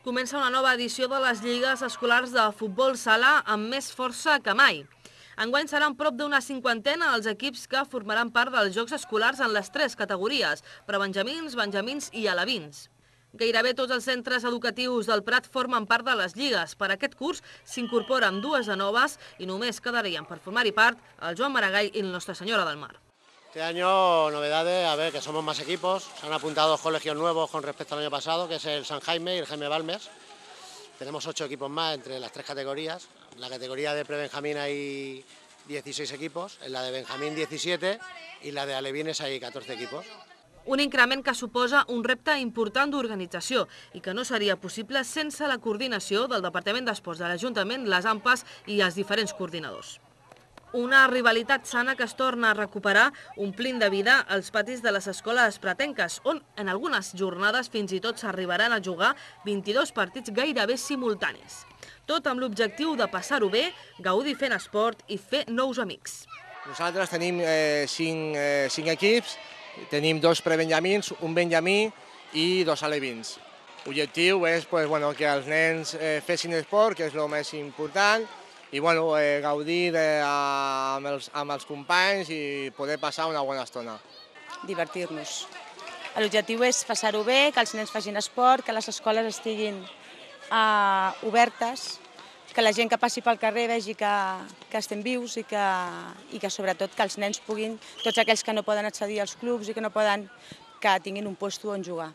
Comença una nova edició de les lligues escolars de futbol sala amb més força que mai. Enguany seran prop d'una cinquantena els equips que formaran part dels Jocs Escolars en les 3 categories, prebenjamins, benjamins i alevins. Gairebé tots els centres educatius del Prat formen part de les lligues. Per aquest curs s'incorporen 2 de noves i només quedarien per formar-hi part el Joan Maragall i el Nostra Senyora del Mar. Este año novedades, a ver, que somos más equipos, se han apuntado 2 colegios nuevos con respecto al año pasado, que es el San Jaime y el Jaime Balmes. Tenemos 8 equipos más entre las 3 categorías. En la categoría de prebenjamín hay 16 equipos, en la de benjamín 17 y la de alevines hay 14 equipos. Un increment que suposa un repte important d'organització i que no seria possible sense la coordinació del Departament d'Esports de l'Ajuntament, les AMPAs i els diferents coordinadors. Una rivalitat sana que es torna a recuperar omplint de vida els patis de les escoles pratenques, on en algunes jornades fins i tot s'arribaran a jugar 22 partits gairebé simultanis. Tot amb l'objectiu de passar-ho bé, gaudir fent esport i fer nous amics. Nosaltres tenim 5 equips, tenim 2 prebenjamins, un benjamí i 2 alevins. L'objectiu és que els nens fessin esport, que és el més important, i gaudir amb els companys i poder passar una bona estona. Divertir-nos. L'objectiu és passar-ho bé, que els nens facin esport, que les escoles estiguin obertes, que la gent que passi pel carrer vegi que estem vius i que sobretot que els nens puguin, tots aquells que no poden accedir als clubs i que tinguin un lloc on jugar.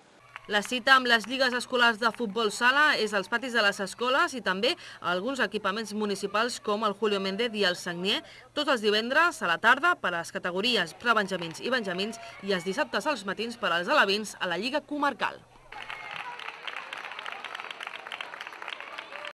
La cita amb les lligues escolars de futbol sala és als patis de les escoles i també a alguns equipaments municipals com el Julio Méndez i el Sagnier, tots els divendres a la tarda per a les categories prebenjamins i benjamins i els dissabtes als matins per als alevins a la Lliga Comarcal.